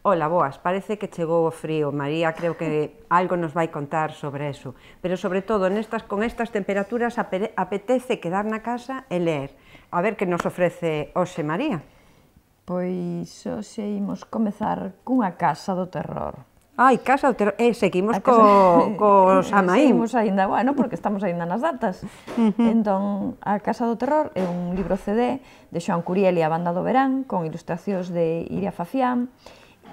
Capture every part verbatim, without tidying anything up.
Ola, boas, parece que chegou o frío. María creo que algo nos vai contar sobre eso. Pero sobre todo, nestas, con estas temperaturas apetece quedar na casa e ler. A ver que nos ofrece hoxe María. Pois hoxe imos comezar cunha casa do terror. Ai, casa do terror. E seguimos co, co Samaín. Seguimos aínda, bueno, porque estamos aínda nas datas. Uh -huh. Entón, a Casa do Terror é un libro C D de Xoán Curiel e a Banda do Verán, con ilustracións de Iria Fafián.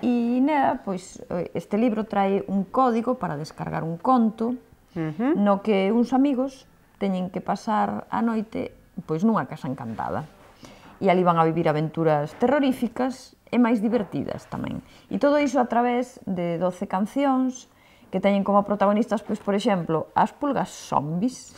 E nela, pois, este libro trae un código para descargar un conto uh -huh. no que uns amigos teñen que pasar a noite pois nunha casa encantada. E ali van a vivir aventuras terroríficas e máis divertidas tamén. E todo iso a través de doce cancións que teñen como protagonistas, pois, por exemplo, as pulgas zombis,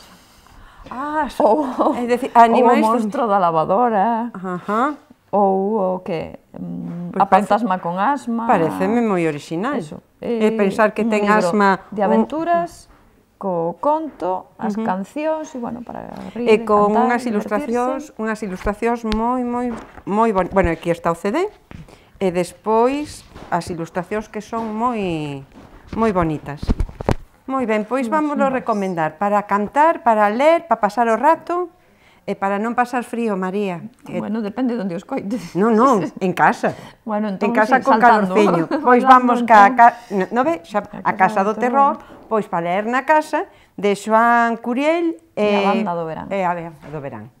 ah, ou, é dicir, animais ou o monstro da lavadora, Ajá. ou o que... Um, pues a fantasma con asma... Pareceme moi original. Eso. E pensar que ten asma... de aventuras... Un... co conto, as uh -huh. cancións, e, bueno, para rir, e con cantar, unhas ilustracións, unhas ilustracións moi, moi, moi bonitas. Bueno, aquí está o C D, e despois as ilustracións que son moi, moi bonitas. Moi ben, pois vámoslo recomendar para cantar, para ler, para pasar o rato, e para non pasar frío, María. Bueno, depende de onde os coites. Non, non, en casa. Bueno, entón, en casa sí, con calorciño. Pois vamos ca, ca, no ve, xa, a Casa do Terror, pois para ler na casa de Xoán Curiel e a Banda do Verán. E a Banda do Verán.